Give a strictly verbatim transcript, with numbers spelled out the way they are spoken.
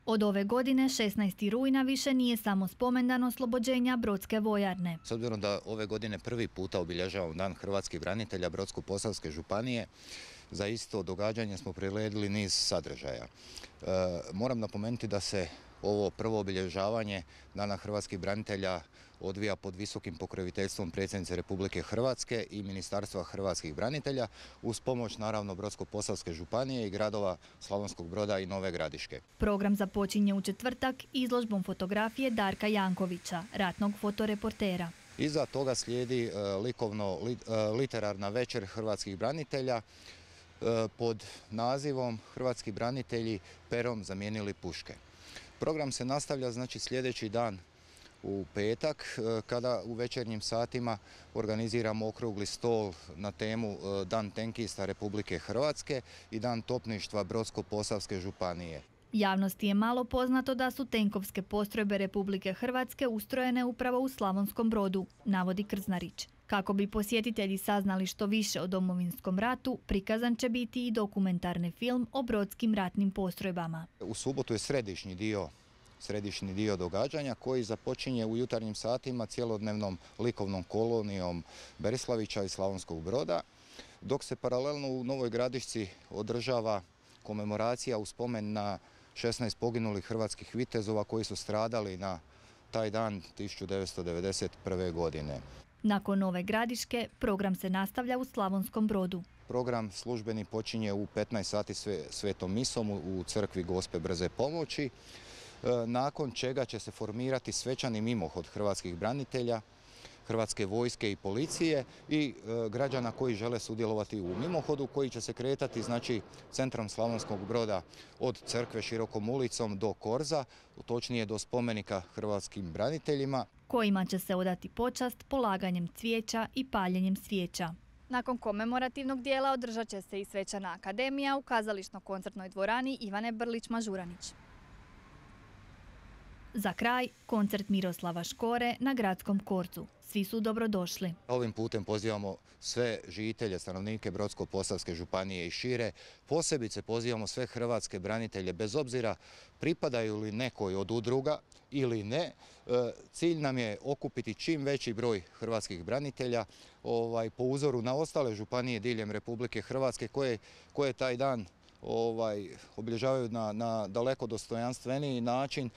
Od ove godine, šesnaestog rujna, više nije samo spomendan oslobođenja Brodske vojarne. S obzirom da ove godine prvi puta obilježavamo Dan hrvatskih branitelja Brodsko-posavske županije, za isto događanje smo priredili niz sadržaja. E, moram napomenuti da se ovo prvo obilježavanje Dana hrvatskih branitelja odvija pod visokim pokroviteljstvom predsjednice Republike Hrvatske i Ministarstva hrvatskih branitelja uz pomoć naravno Brodsko-posavske županije i gradova Slavonskog Broda i Nove Gradiške. Program započinje u četvrtak izložbom fotografije Darka Jankovića, ratnog fotoreportera. Iza toga slijedi likovno-literarna večer hrvatskih branitelja pod nazivom Hrvatski branitelji perom zamijenili puške. Program se nastavlja znači sljedeći dan u petak kada u večernjim satima organiziramo okrugli stol na temu Dan tenkista Republike Hrvatske i Dan topništva Brodsko-posavske županije. Javnosti je malo poznato da su tenkovske postrojbe Republike Hrvatske ustrojene upravo u Slavonskom Brodu, navodi Krznarić. Kako bi posjetitelji saznali što više o Domovinskom ratu, prikazan će biti i dokumentarni film o brodskim ratnim postrojbama. U subotu je središnji dio, središnji dio događanja koji započinje u jutarnjim satima cjelodnevnom likovnom kolonijom Berislavića i Slavonskog Broda, dok se paralelno u Novoj Gradišci održava komemoracija u spomen na šesnaest poginulih hrvatskih vitezova koji su stradali na taj dan tisuću devetsto devedeset prve. godine. Nakon Nove Gradiške, program se nastavlja u Slavonskom Brodu. Program službeni počinje u petnaest sati svetom misom u crkvi Gospe Brze pomoći, nakon čega će se formirati svečani mimohod hrvatskih branitelja, Hrvatske vojske i policije i e, građana koji žele sudjelovati u mimohodu koji će se kretati znači centrom Slavonskog Broda od crkve širokom ulicom do Korza, točnije do spomenika hrvatskim braniteljima, kojima će se odati počast polaganjem cvijeća i paljenjem svijeća. Nakon komemorativnog dijela održat će se i svečana akademija u kazališno-koncertnoj dvorani Ivane Brlić-Mažuranić. Za kraj, koncert Miroslava Škore na Gradskom Korcu. Svi su dobrodošli. Ovim putem pozivamo sve žitelje, stanovnike Brodsko-posavske županije i šire. Posebice pozivamo sve hrvatske branitelje, bez obzira pripadaju li nekoj od udruga ili ne. Cilj nam je okupiti čim veći broj hrvatskih branitelja ovaj, po uzoru na ostale županije diljem Republike Hrvatske koje, koje taj dan ovaj, obilježavaju na, na daleko dostojanstveniji način.